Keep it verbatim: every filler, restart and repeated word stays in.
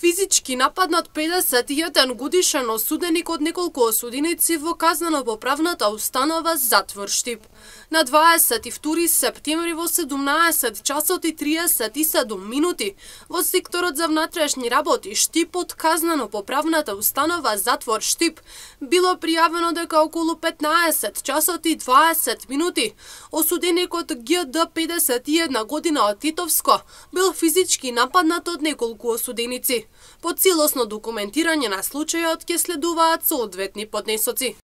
Физички нападнат педесет и еден годишен осуденик од неколку осуденици во казнено-поправната установа затвор Штип. На дваесет и втори септември во седумнаесет часот и триесет и седум минути во секторот за внатрешни работи Штип од казнено-поправната установа затвор Штип било пријавено дека околу петнаесет часот и дваесет минути осуденикот Г Д педесет и една година од Титовско бил физички нападнат од неколку осуденици. По целосно документирање на случајот ќе следуваат соодветни поднесоци.